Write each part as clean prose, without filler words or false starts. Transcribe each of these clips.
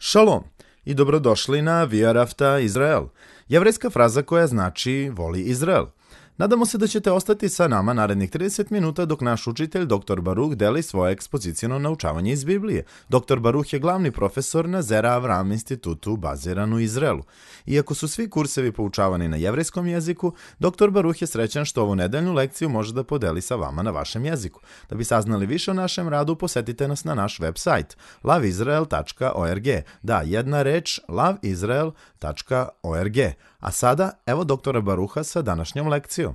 Šalom i dobrodošli na Viarafta Izrael, jevrejska fraza koja znači voli Izrael. Nadamo se da ćete ostati sa nama narednih 30 minuta dok naš učitelj dr. Baruh deli svoje ekspoziciono naučavanje iz Biblije. Dr. Baruh je glavni profesor na Zera Avram institutu baziran u Izraelu. Iako su svi kursevi poučavani na jevrejskom jeziku, dr. Baruh je srećan što ovu nedeljnu lekciju može da podeli sa vama na vašem jeziku. Da bi saznali više o našem radu, posetite nas na naš web sajt loveisrael.org. Da, jedna reč, loveisrael.org. A sada, evo doktora Baruha sa današnjom lekcijom.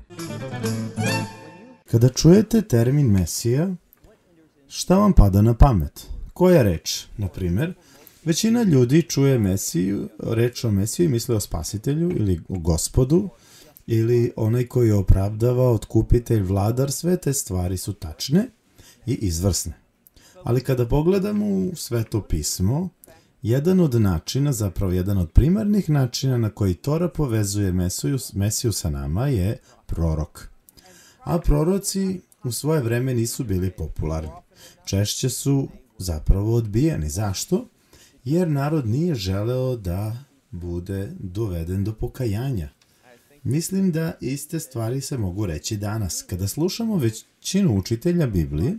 Kada čujete termin Mesija, šta vam pada na pamet? Koja reč? Na primjer, većina ljudi čuje Mesiju, reč o Mesiji misle o spasitelju ili o gospodu, ili onaj koji je opravdava, otkupitelj, vladar, sve te stvari su tačne i izvrsne. Ali kada pogledamo u Sveto pismo, jedan od načina, zapravo jedan od primarnih načina na koji Tora povezuje Mesiju sa nama je prorok. A proroci u svoje vreme nisu bili popularni. Češće su zapravo odbijeni. Zašto? Jer narod nije želeo da bude doveden do pokajanja. Mislim da iste stvari se mogu reći danas. Kada slušamo većinu učitelja Biblije,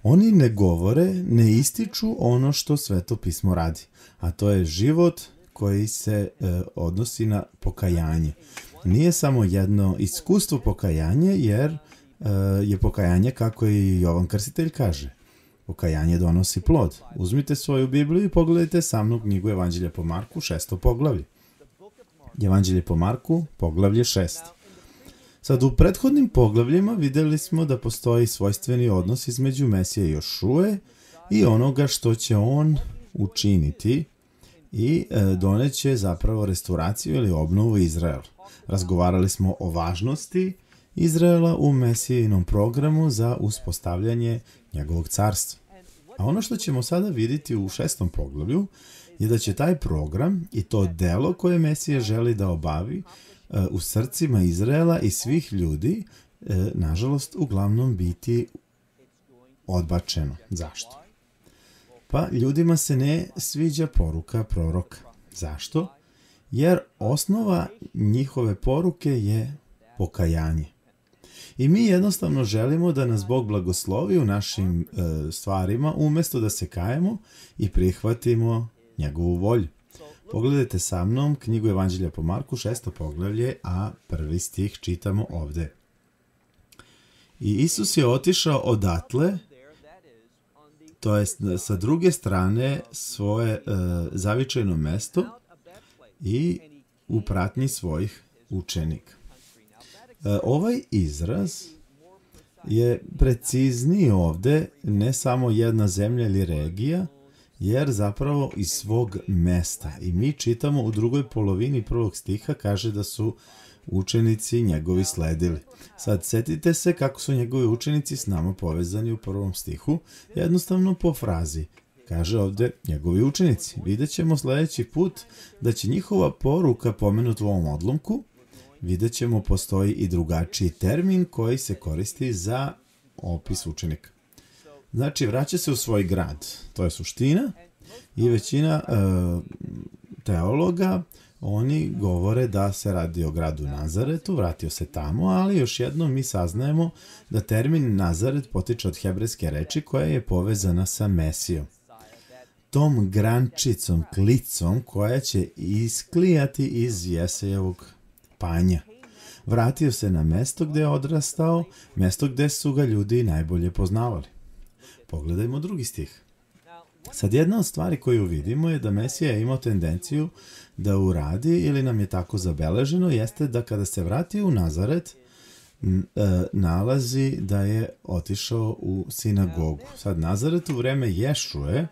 oni ne govore, ne ističu ono što Sveto pismo radi, a to je život koji se odnosi na pokajanje. Nije samo jedno iskustvo pokajanje, jer je pokajanje, kako i Jovan Krstitelj kaže, pokajanje donosi plod. Uzmite svoju Bibliju i pogledajte sa mnom knjigu Evanđelja po Marku, 6. poglavlje. Evanđelje po Marku, poglavlje 6. Sad, u prethodnim poglavljima vidjeli smo da postoji svojstveni odnos između Mesije Jošue i onoga što će on učiniti i doneće zapravo restauraciju ili obnovu Izraela. Razgovarali smo o važnosti Izraela u Mesijinom programu za uspostavljanje njegovog carstva. A ono što ćemo sada vidjeti u 6. poglavlju je da će taj program i to delo koje Mesija želi da obavi u srcima Izraela i svih ljudi, nažalost, uglavnom biti odbačeno. Zašto? Pa ljudima se ne sviđa poruka proroka. Zašto? Jer osnova njihove poruke je pokajanje. I mi jednostavno želimo da nas Bog blagoslovi u našim stvarima, umjesto da se kajemo i prihvatimo njegovu volju. Pogledajte sa mnom knjigu Evanđelja po Marku, 6. poglavlje, a 1. stih čitamo ovdje. I Isus je otišao odatle, to jest sa druge strane svoje zavičajno mesto i u pratnji svojih učenika. Ovaj izraz je precizniji ovdje, ne samo jedna zemlja ili regija, jer zapravo iz svog mesta. I mi čitamo u drugoj polovini 1. stiha, kaže da su učenici njegovi sledili. Sad, setite se kako su njegovi učenici s nama povezani u 1. stihu, jednostavno po frazi. Kaže ovdje njegovi učenici. Vidjet ćemo sljedeći put da će njihova poruka pomenuti u ovom odlomku. Vidjet ćemo postoji i drugačiji termin koji se koristi za opis učenika. Znači, vraća se u svoj grad. To je suština. I većina teologa, oni govore da se radi o gradu Nazaretu, vratio se tamo, ali još jednom mi saznajemo da termin Nazaret potiče od hebrejske reči koja je povezana sa Mesijom. Tom grančicom, klicom koja će isklijati iz Jesejevog panja. Vratio se na mesto gdje je odrastao, mesto gdje su ga ljudi najbolje poznavali. Pogledajmo 2. stih. Sad, jedna od stvari koju vidimo je da Mesija je imao tendenciju da uradi, ili nam je tako zabeleženo, jeste da kada se vrati u Nazaret, nalazi da je otišao u sinagogu. Sad, Nazaret u vreme Ješuje,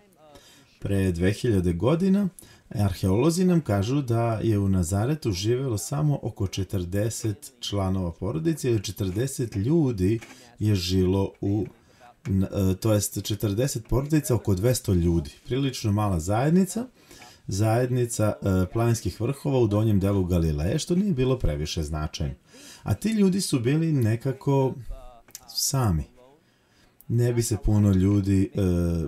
pre 2000 godina, arheolozi nam kažu da je u Nazaretu živjelo samo oko 40 članova porodice ili 40 ljudi je žilo to jest 40 porodica, oko 200 ljudi. Prilično mala zajednica planinskih vrhova u donjem delu Galileje, što nije bilo previše značajno. A ti ljudi su bili nekako sami. Ne bi se puno ljudi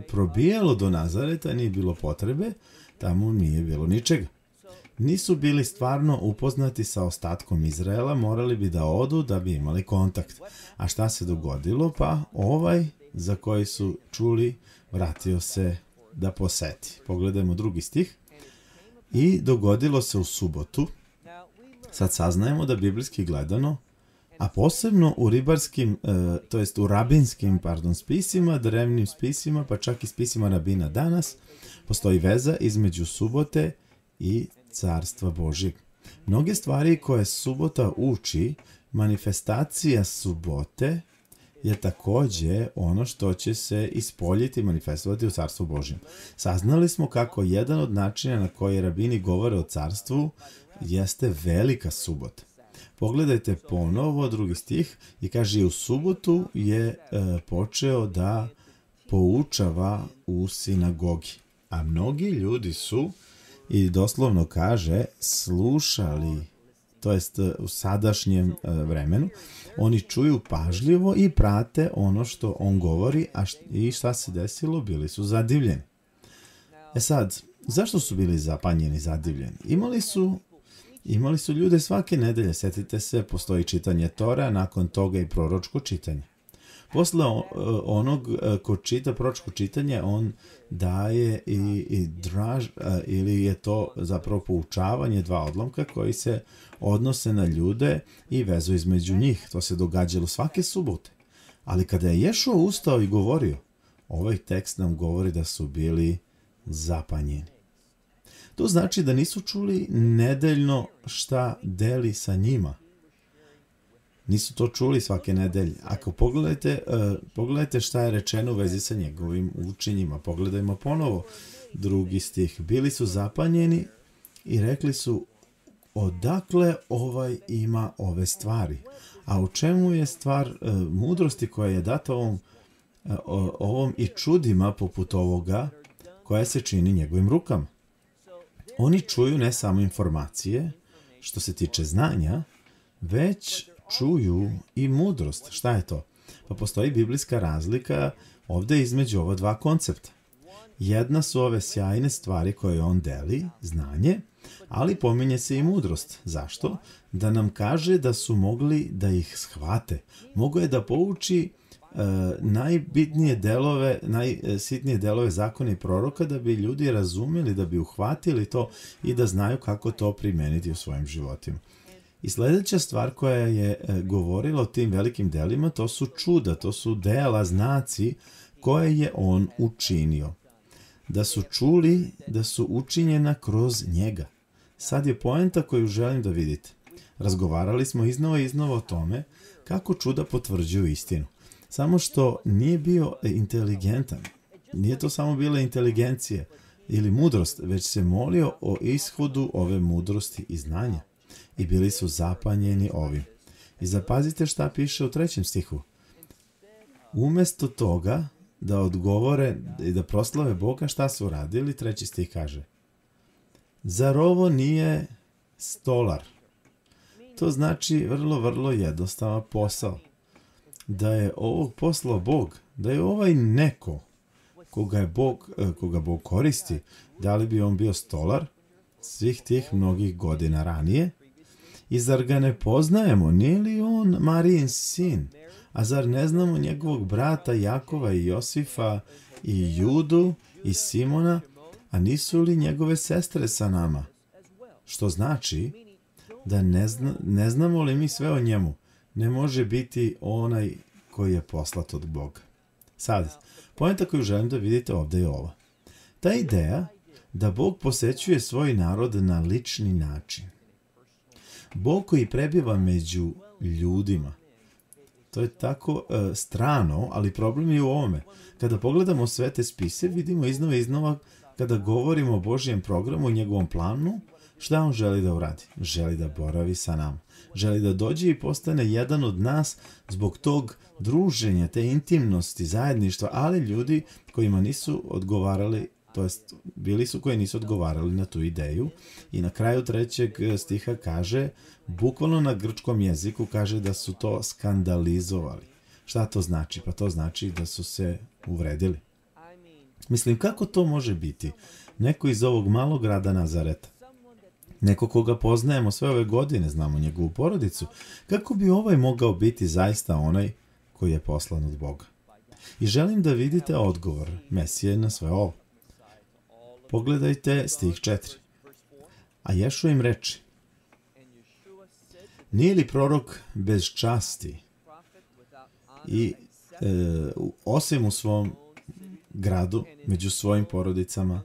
probijalo do Nazareta, nije bilo potrebe, tamo nije bilo ničega. Nisu bili stvarno upoznati sa ostatkom Izraela, morali bi da odu da bi imali kontakt. A šta se dogodilo? Pa ovaj za koji su čuli vratio se da poseti. Pogledajmo 2. stih. I dogodilo se u subotu. Sad saznajemo da biblijski gledano, a posebno u ribarskim, to jest u rabinskim, spisima, drevnim spisima, pa čak i spisima rabina danas, postoji veza između subote i Carstva Božjeg. Mnoge stvari koje subota uči, manifestacija subote je takođe ono što će se ispoljiti, manifestovati u Carstvu Božjem. Saznali smo kako jedan od načina na koji rabini govore o carstvu jeste velika subota. Pogledajte ponovo 2. stih i kaže u subotu je počeo da poučava u sinagogi. A mnogi ljudi su, i doslovno kaže, slušali, to jest u sadašnjem vremenu, oni čuju pažljivo i prate ono što on govori, i šta se desilo? Bili su zadivljeni. Sad, zašto su bili zapanjeni, zadivljeni? Imali su ljude svake nedelje, setite se, postoji čitanje Tora, nakon toga i proročko čitanje. Posle onog ko čita proročko čitanje, on daje i draž, ili je to zapravo poučavanje 2 odlomka koji se odnose na ljude i vezu između njih. To se događalo svake subote. Ali kada je Ješua ustao i govorio, ovaj tekst nam govori da su bili zapanjeni. To znači da nisu čuli nedeljno šta deli sa njima. Nisu to čuli svake nedelje. Ako pogledajte šta je rečeno u vezi sa njegovim učenjima. Pogledajmo ponovo 2. stih. Bili su zapanjeni i rekli su, odakle ovaj ima ove stvari? A u čemu je stvar mudrosti koja je data ovom i čudima poput ovoga koja se čini njegovim rukama? Oni čuju ne samo informacije što se tiče znanja, već čuju i mudrost. Šta je to? Pa postoji biblijska razlika ovdje između ova 2 koncepta. Jedna su ove sjajne stvari koje on deli, znanje, ali pominje se i mudrost. Zašto? Da nam kaže da su mogli da ih shvate. Mogo je da pouči najbitnije delove, najsitnije delove zakona i proroka da bi ljudi razumeli, da bi uhvatili to i da znaju kako to primeniti u svojim životima. I sljedeća stvar koja je govorila o tim velikim delima, to su čuda, to su dela, znaci koje je on učinio. Da su čuli da su učinjena kroz njega. Sad je poenta koju želim da vidite. Razgovarali smo iznova o tome kako čuda potvrđuju istinu. Samo što nije bio inteligentan. Nije to samo bila inteligencija ili mudrost, već se molio o ishodu ove mudrosti i znanja. I bili su zapanjeni ovim. I zapazite šta piše u 3. stihu. Umjesto toga da odgovore i da proslave Boga, šta su radili? 3. stih kaže. Zar ovo nije stolar? To znači vrlo jednostavan posao. Da je ovog poslao Bog, da je ovaj neko koga Bog koristi, da li bi on bio stolar svih tih mnogih godina ranije? I zar ga ne poznajemo? Nije li on Marijin sin? A zar ne znamo njegovog brata Jakova i Josifa i Judu i Simona? A nisu li njegove sestre sa nama? Što znači da ne znamo li mi sve o njemu? Ne može biti onaj koji je poslat od Boga. Sad, poenta koju želim da vidite ovdje je ova. Ta ideja da Bog posećuje svoj narod na lični način. Bog koji prebiva među ljudima. To je tako strano, ali problem je u ovome. Kada pogledamo sve te spise, vidimo iznova kada govorimo o Božjem programu i njegovom planu, šta on želi da uradi? Želi da boravi sa nama. Želi da dođe i postane jedan od nas zbog tog druženja, te intimnosti, zajedništva, ali ljudi kojima nisu odgovarali, to jest bili su koji nisu odgovarali na tu ideju. I na kraju 3. stiha kaže, bukvalno na grčkom jeziku kaže da su to skandalizovali. Šta to znači? Pa to znači da su se uvredili. Mislim, kako to može biti? Neko iz ovog malog grada Nazareta, neko koga poznajemo sve ove godine, znamo njegovu porodicu, kako bi ovaj mogao biti zaista onaj koji je poslan od Boga? I želim da vidite odgovor Mesije na sve ovo. Pogledajte stih 4. A Ješua im reče: nije li prorok bez časti i osim u svom gradu, među svojim porodicama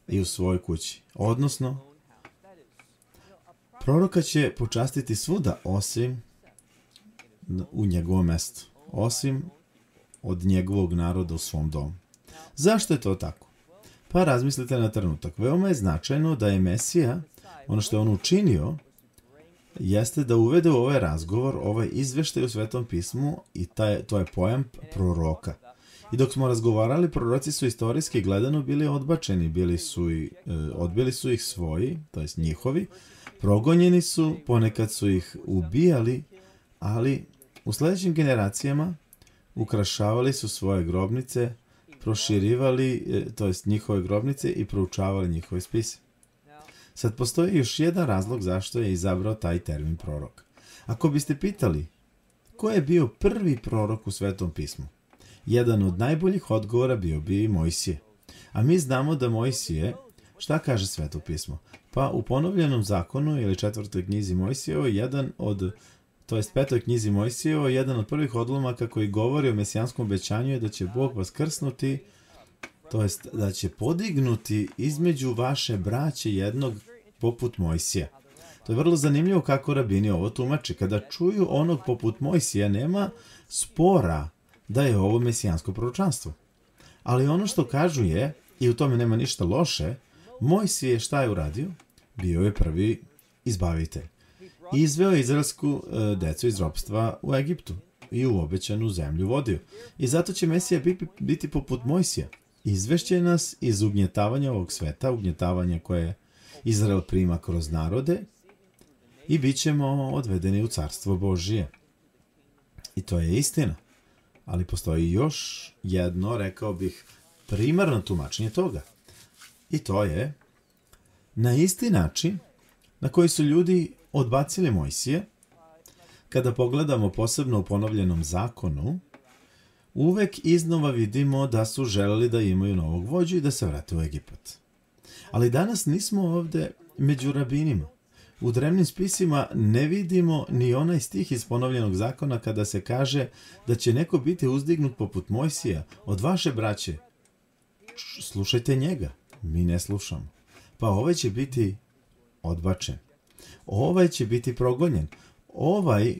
i u svojoj kući? Odnosno, proroka će počastiti svuda osim u njegovom mestu, osim od njegovog naroda u svom domu. Zašto je to tako? Pa razmislite na trenutak. Veoma je značajno da je Mesija, ono što je on učinio, jeste da uvede u ovaj razgovor, ovaj izveštaj u Svetom pismu i to je pojam proroka. I dok smo razgovarali, proroci su istorijski gledano bili odbačeni, odbili su ih svoji, to jest njihovi, progonjeni su, ponekad su ih ubijali, ali u sljedećim generacijama ukrašavali su svoje grobnice, proširivali, to jest njihove grobnice i proučavali njihove spise. Sad postoji još jedan razlog zašto je izabrao taj termin prorok. Ako biste pitali ko je bio prvi prorok u Svetom pismu, jedan od najboljih odgovora bio bi Mojsije. A mi znamo da Mojsije, šta kaže Sveto pismo? Pa u ponovljenom zakonu ili 4. knjizi Mojsijevo, petoj knjizi Mojsijevo, jedan od prvih odlomaka koji govori o mesijanskom obećanju je da će Bog vaskrsnuti, to jest da će podignuti između vaše braće jednog poput Mojsija. To je vrlo zanimljivo kako rabini ovo tumače. Kada čuju onog poput Mojsija, nema spora da je ovo mesijansko proročanstvo. Ali ono što kažu je, i u tome nema ništa loše, Mojsije šta je uradio? Bio je prvi izbavitelj. Izveo je izraelsku decu iz ropstva u Egiptu i u obećanu zemlju vodio. I zato će Mesija biti poput Mojsija. Izvešće nas iz ugnjetavanja ovog sveta, ugnjetavanja koje Izrael prima kroz narode, i bit ćemo odvedeni u carstvo Božije. I to je istina. Ali postoji još jedno, rekao bih, primarno tumačenje toga. I to je na isti način na koji su ljudi odbacili Mojsije. Kada pogledamo posebno u ponovljenom zakonu, uvek iznova vidimo da su želeli da imaju novog vođu i da se vrate u Egipat. Ali danas nismo ovde među rabinima. U drevnim spisima ne vidimo ni onaj stih iz ponovljenog zakona kada se kaže da će neko biti uzdignut poput Mojsija od vaše braće. Slušajte njega, mi ne slušamo. Pa ovaj će odbačen. Ovaj će biti progonjen. Ovaj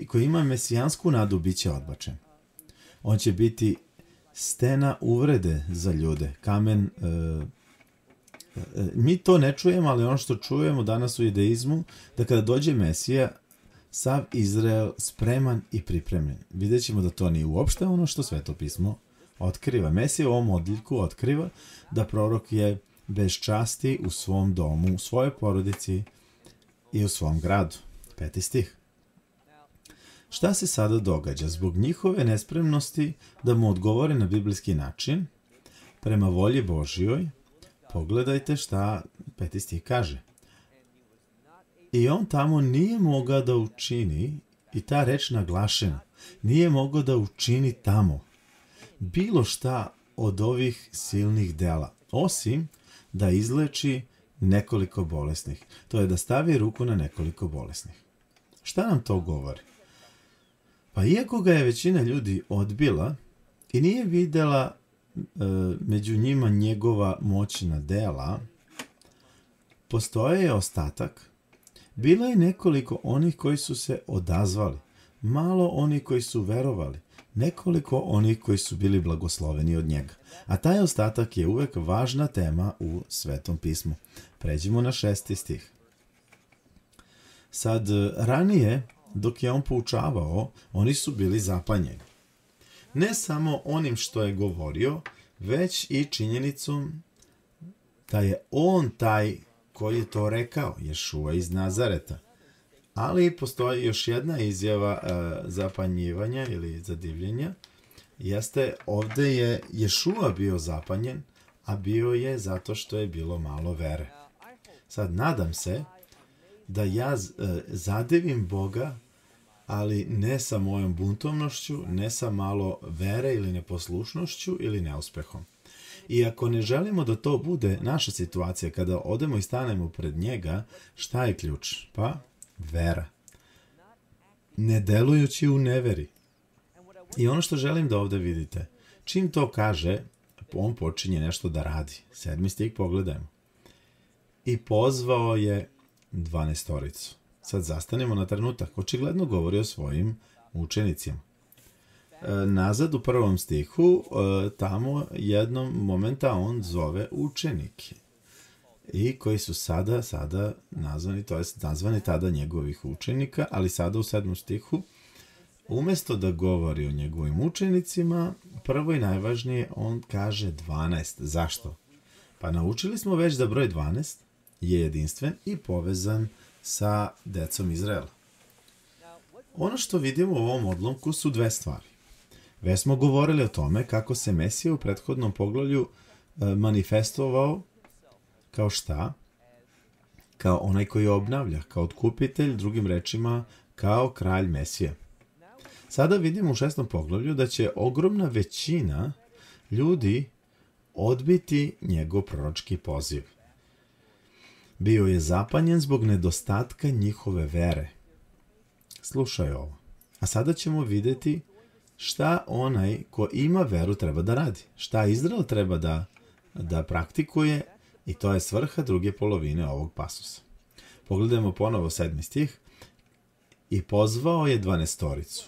koji ima mesijansku nadu bit će odbačen. On će biti stena uvrede za ljude, kamen. Mi to ne čujemo, ali ono što čujemo danas u judaizmu, da kada dođe Mesija, sav Izrael spreman i pripremljen. Vidjet ćemo da to nije uopšte ono što Sveto pismo otkriva. Mesija u ovom odjeljku otkriva da prorok je bez časti u svom domu, u svojoj porodici i u svom gradu. 5. stih. Šta se sada događa? Zbog njihove nespremnosti da mu odgovore na biblijski način, prema volji Božjoj, pogledajte šta 5. stih kaže. I on tamo nije mogao da učini, i ta reč naglašena, nije mogao da učini tamo bilo šta od ovih silnih dela, osim da izleči nekoliko bolesnih. To je da stavi ruku na nekoliko bolesnih. Šta nam to govori? Pa iako ga je većina ljudi odbila i nije videla među njima njegova moćna dela, postoje ostatak. Bilo je nekoliko onih koji su se odazvali, malo onih koji su verovali, nekoliko onih koji su bili blagosloveni od njega. A taj ostatak je uvek važna tema u Svetom pismu. Pređimo na 6. stih. Sad, ranije, dok je on poučavao, oni su bili zapanjeni. Ne samo onim što je govorio, već i činjenicom da je on taj koji je to rekao, Ješua iz Nazareta. Ali postoji još jedna izjava zapanjivanja ili zadivljenja, jeste ovde je Ješua bio zapanjen, a bio je zato što je bilo malo vere. Sad, nadam se da ja zadivim Boga, ali ne sa mojom buntovnošću, ne sa malo vere ili neposlušnošću ili neuspehom. I ako ne želimo da to bude naša situacija, kada odemo i stanemo pred njega, šta je ključ? Pa, vera. Ne delujući u neveri. I ono što želim da ovde vidite, čim to kaže, on počinje nešto da radi. 7. stih pogledajmo. I pozvao je 12. Sad zastanemo na trenutak. Očigledno govori o svojim učenicima. Nazad u 1. stihu, tamo jednom momenta on zove učenike. I koji su sada nazvani, to jest nazvani tada njegovih učenika, ali sada u 7. stihu, umesto da govori o njegovim učenicima, prvo i najvažnije, on kaže 12. Zašto? Pa naučili smo već da broj 12 je jedinstven i povezan sa decom Izraela. Ono što vidimo u ovom odlomku su dve stvari. Već smo govorili o tome kako se Mesija u prethodnom poglavlju manifestovao kao šta? Kao onaj koji obnavlja, kao otkupitelj, drugim rečima, kao kralj Mesija. Sada vidimo u 6. poglavlju da će ogromna većina ljudi odbiti njegov proročki poziv. Bio je zapanjen zbog nedostatka njihove vere. Slušaj ovo. A sada ćemo vidjeti šta onaj ko ima veru treba da radi. Šta Izrael treba da praktikuje i to je svrha druge polovine ovog pasusa. Pogledajmo ponovo 7. stih. I pozvao je 12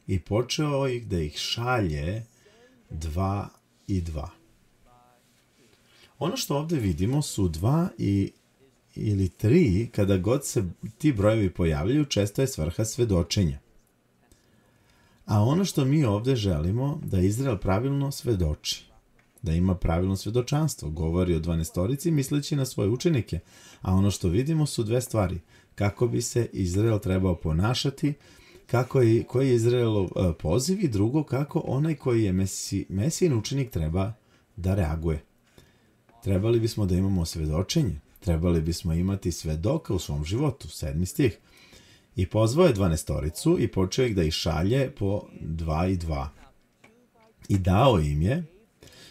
i počeo ih da ih šalje 2 i 2. Ono što ovdje vidimo su 2 ili 3, kada god se ti brojevi pojavljaju, često je svrha svedočenja. A ono što mi ovdje želimo, da Izrael pravilno svedoči, da ima pravilno svedočanstvo, govori o 12 misleći na svoje učenike, a ono što vidimo su dve stvari, kako bi se Izrael trebao ponašati, koji je Izraelov poziv i drugo, kako onaj koji je Mesijin učenik treba da reaguje. Trebali bismo da imamo svedočenje, trebali bismo imati svedoka u svom životu, 7. stih. I pozvao je 12 i počeo ih da ih šalje po 2 i 2. I dao im je,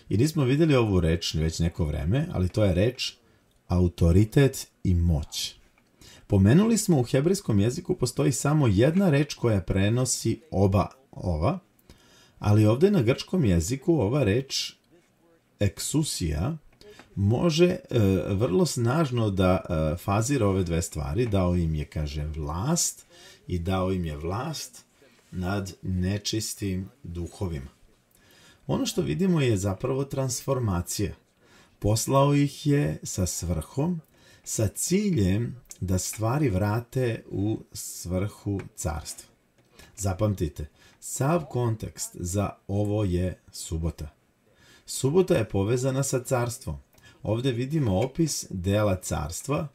i nismo vidjeli ovu reč već neko vreme, ali to je reč autoritet i moć. Pomenuli smo u hebrejskom jeziku postoji samo jedna reč koja prenosi oba ova, ali ovdje na grčkom jeziku ova reč eksusija može vrlo snažno da fazira ove dve stvari. Dao im je, kaže, vlast i dao im je vlast nad nečistim duhovima. Ono što vidimo je zapravo transformacija. Poslao ih je sa svrhom, sa ciljem da stvari vrate u svrhu carstva. Zapamtite, sav kontekst za ovo je subota. Subota je povezana sa carstvom. Ovdje vidimo opis dela carstva,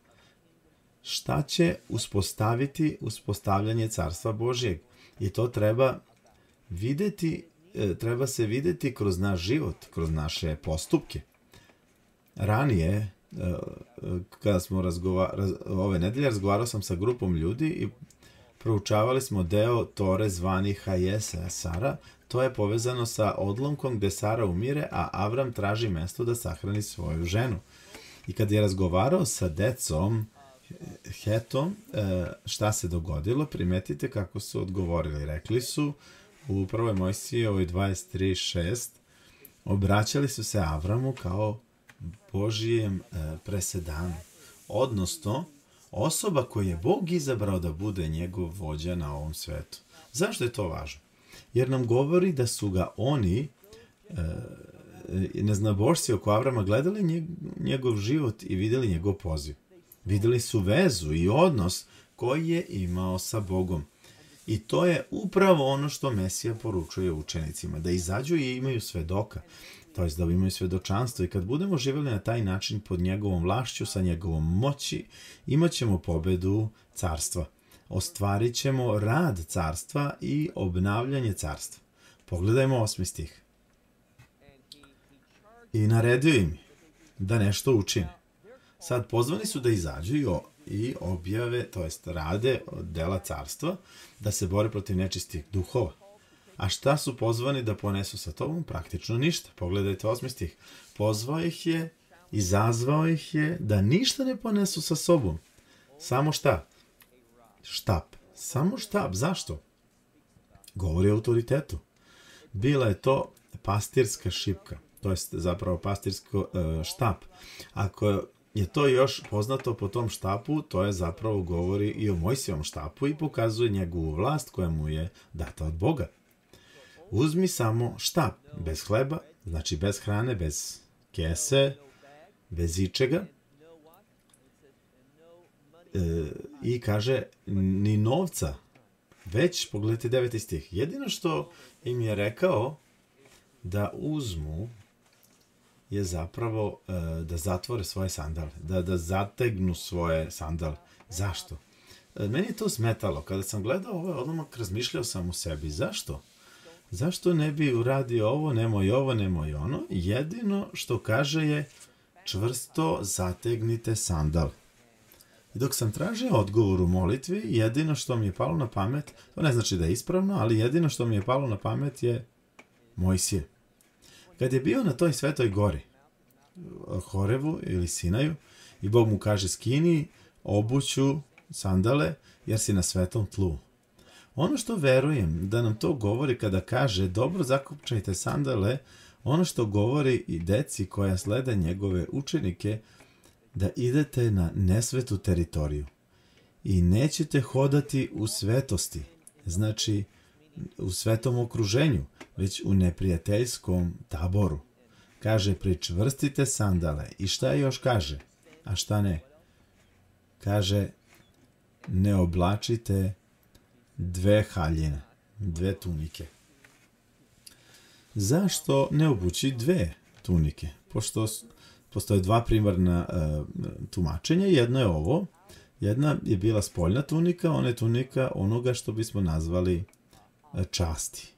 šta će uspostaviti uspostavljanje carstva Božjeg. I to treba se vidjeti kroz naš život, kroz naše postupke. Ranije, kada smo ove nedelje, razgovarao sam sa grupom ljudi i proučavali smo deo Tore zvani Hajese Sara. To je povezano sa odlomkom gde Sara umire, a Avram traži mesto da sahrani svoju ženu. I kad je razgovarao sa decom Hetom, šta se dogodilo, primetite kako su odgovorili. Rekli su u 1. Mojsijevoj 23:6, obraćali su se Avramu kao Božijem presedanu. Odnosno, osoba koju je Bog izabrao da bude njegov vođa na ovom svetu. Zašto je to važno? Jer nam govori da su ga oni, neznabošci oko Avrama, gledali njegov život i vidjeli njegov poziv. Vidjeli su vezu i odnos koji je imao sa Bogom. I to je upravo ono što Mesija poručuje učenicima, da izađu i imaju svedoka, to jest da imaju svedočanstvo. I kad budemo živjeli na taj način pod njegovom vlašću, sa njegovom moći, imat ćemo pobedu carstva. Ostvarit ćemo rad carstva i obnavljanje carstva. Pogledajmo 8. stih. I naredio im da nešto učine. Sad pozvani su da izađu i objave, to jest rade dela carstva, da se bore protiv nečistih duhova. A šta su pozvani da ponesu sa tobom? Praktično ništa. Pogledajte 8. stih. Pozvao ih je, izazvao ih je da ništa ne ponesu sa sobom. Samo šta? Štap. Samo štap. Zašto? Govori o autoritetu. Bila je to pastirska šipka, to jest zapravo pastirsko štap. Ako je to još poznato po tom štapu, to je zapravo govori i o Mojsijevom štapu i pokazuje njegovu vlast koja mu je data od Boga. Uzmi samo štap, bez hleba, znači bez hrane, bez kese, bez ičega. I kaže, ni novca, već, pogledajte 9. stih, jedino što im je rekao da uzmu je zapravo da zatvore svoje sandale, da zategnu svoje sandale. Zašto? Meni je to smetalo. Kada sam gledao ovo, odmah razmišljao sam u sebi. Zašto? Zašto ne bi uradio ovo, nemoj ono? Jedino što kaže je čvrsto zategnite sandale. I dok sam tražio odgovor u molitvi, jedino što mi je palo na pamet, to ne znači da je ispravno, ali jedino što mi je palo na pamet je Mojsije. Kad je bio na toj svetoj gori, Horevu ili Sinaju, i Bog mu kaže skini obuću sandale jer si na svetom tlu. Ono što verujem da nam to govori kada kaže dobro zakopčajte sandale, ono što govori i deci koja slede njegove učenike, da idete na nesvetu teritoriju i nećete hodati u svetosti, znači u svetom okruženju, već u neprijateljskom taboru. Kaže, pričvrstite sandale. I šta još kaže? A šta ne? Kaže, ne oblačite 2 haljine, 2 tunike. Zašto ne obući 2 tunike? Pošto postoje 2 primarna tumačenja. Jedno je ovo. Jedna je bila spoljna tunika, ona je tunika onoga što bismo nazvali časti.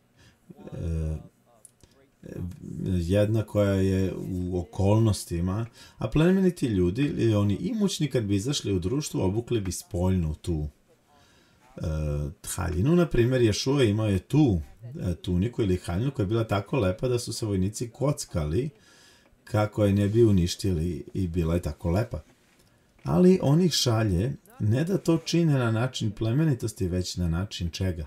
Jedna koja je u okolnostima, a plemeniti ljudi, ili oni imućni kad bi izašli u društvu, obukli bi spoljnu tu haljinu. Na primjer, Ješua imao je tu tuniku ili haljinu koja je bila tako lepa da su se vojnici kockali kako je ne bi uništili i bila je tako lepa. Ali on ih šalje ne da to čine na način plemenitosti, već na način čega?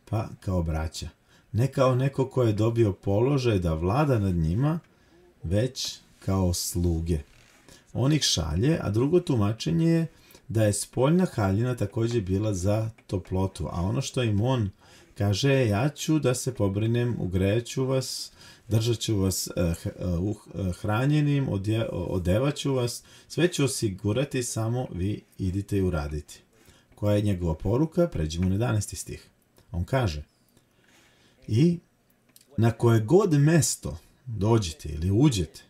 Pa kao braća. Ne kao neko ko je dobio položaj da vlada nad njima, već kao sluge. On ih šalje, a drugo tumačenje je da je spoljna haljina također bila za toplotu, a ono što im on kaže, ja ću da se pobrinem, ugreću vas, držat ću vas hranjenim, odevaću vas, sve ću osigurati, samo vi idite i uradite. Koja je njegova poruka? Pređimo na 11. stih. On kaže, i na koje god mesto dođete ili uđete,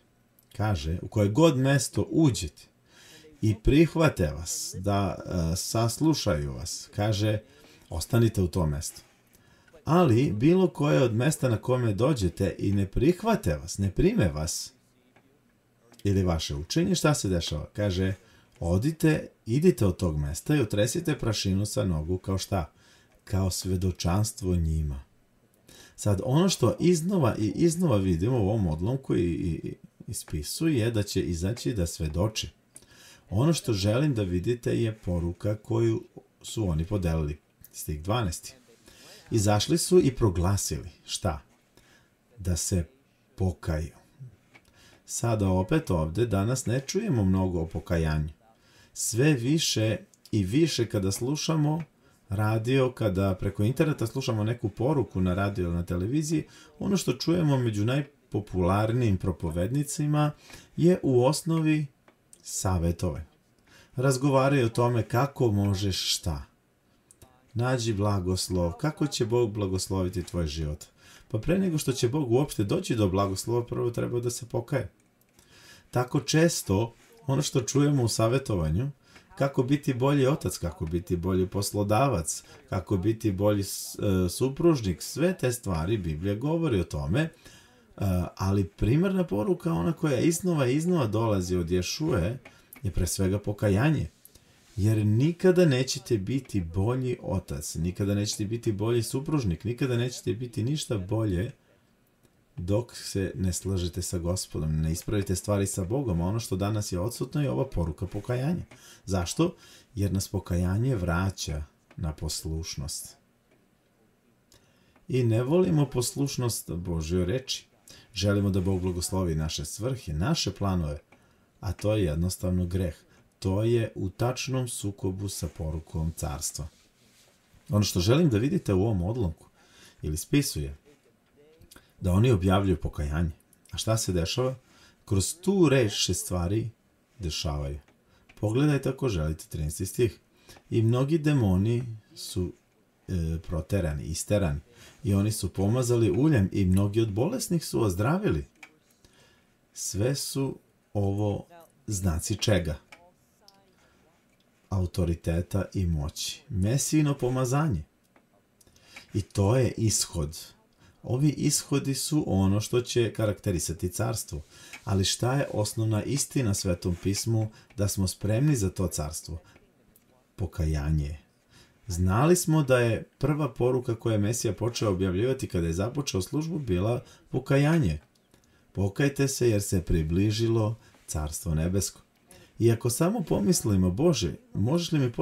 kaže, u koje god mesto uđete i prihvate vas, da saslušaju vas, kaže, ostanite u tom mestu. Ali bilo koje od mesta na kome dođete i ne prihvate vas, ne prime vas ili vaše učenje, šta se dešava? Kaže, idite od tog mesta i otresite prašinu sa nogu kao šta? Kao svedočanstvo njima. Sad, ono što iznova i iznova vidimo u ovom odlomku i ispisuje je da će izaći da svedoče. Ono što želim da vidite je poruka koju su oni podelili. Stih 12. Izašli su i proglasili. Šta? Da se pokaju. Sada opet ovde danas ne čujemo mnogo o pokajanju. Sve više i više kada slušamo radio, kada preko interneta slušamo neku poruku na radio ili na televiziji, ono što čujemo među najpopularnijim propovednicima je u osnovi savetove. Razgovaraju o tome kako možeš šta. Nađi blagoslov, kako će Bog blagosloviti tvoj život. Pa pre nego što će Bog uopšte doći do blagoslova, prvo treba da se pokaje. Tako često, ono što čujemo u savetovanju, kako biti bolji otac, kako biti bolji poslodavac, kako biti bolji supružnik. Sve te stvari Biblija govori o tome, ali primarna poruka, ona koja iznova dolazi od Ješuje, je pre svega pokajanje. Jer nikada nećete biti bolji otac, nikada nećete biti bolji supružnik, nikada nećete biti ništa bolje dok se ne slažete sa Gospodom, ne ispravite stvari sa Bogom. A ono što danas je odsutno je ova poruka pokajanja. Zašto? Jer nas pokajanje vraća na poslušnost. I ne volimo poslušnost Božjoj reči. Želimo da Bog blagoslovi naše svrhe, naše planove, a to je jednostavno greh. To je u tačnom sukobu sa porukom carstva. Ono što želim da vidite u ovom odlomku ili spisu je da oni objavljuju pokajanje. A šta se dešava? Kroz tu reč se stvari dešavaju. Pogledajte ako želite 13. stih. I mnogi demoni su proterani, isterani. I oni su pomazali uljem i mnogi od bolesnih su ozdravili. Sve su ovo znaci čega? Autoriteta i moći. Mesijino pomazanje. I to je ishod. Ovi ishodi su ono što će karakterisati carstvo. Ali šta je osnovna istina Svetom pismu da smo spremni za to carstvo? Pokajanje. Znali smo da je prva poruka koju je Mesija počeo objavljivati kada je započeo službu bila pokajanje. Pokajte se jer se približilo carstvo nebesko. I ako samo pomislimo, Bože, možeš li mi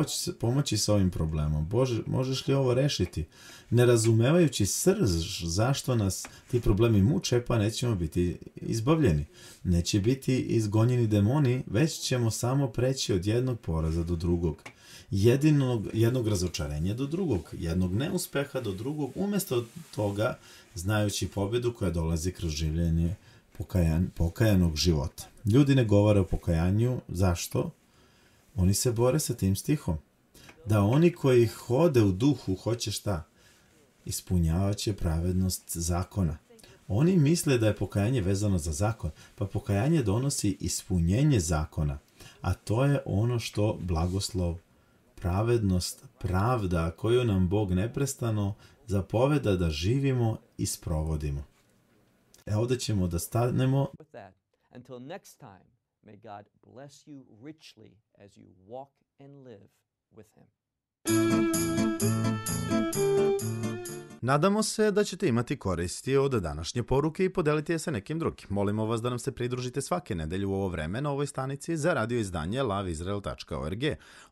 pomoći sa ovim problemom? Bože, možeš li ovo rešiti? Ne razumevajući srž zašto nas ti problemi muče, pa nećemo biti izbavljeni. Neće biti izgonjeni demoni, već ćemo samo preći od jednog poraza do drugog. Jednog razočarenja do drugog, jednog neuspeha do drugog, umjesto toga znajući pobjedu koja dolazi kroz življenje pokajanog života. Ljudi ne govore o pokajanju. Zašto? Oni se bore sa tim stihom. Da oni koji hode u duhu hoće šta? Ispunjavaće pravednost zakona. Oni misle da je pokajanje vezano za zakon, pa pokajanje donosi ispunjenje zakona, a to je ono što blagoslov, pravednost, pravda koju nam Bog neprestano zapoveda da živimo i sprovodimo. Ovdje ćemo da stanemo. Until next time, may God bless you richly as you walk and live with Him. Nadamo se da ćete imati koristi od današnje poruke i podeliti je sa nekim drugim. Molimo vas da nam se pridružite svake nedelje u ovo vreme na ovoj stanici za radio izdanje loveisrael.org.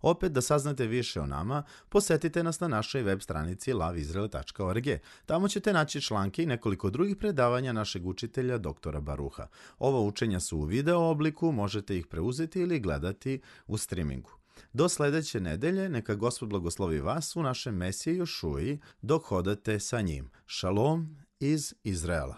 Opet da saznate više o nama, posetite nas na našoj web stranici loveisrael.org. Tamo ćete naći članke i nekoliko drugih predavanja našeg učitelja dr. Baruha. Ova učenja su u video obliku, možete ih preuzeti ili gledati u streamingu. Do sledeće nedelje, neka Gospod blagoslovi vas u našem Mesiji Jošuji dok hodate sa njim. Šalom iz Izraela.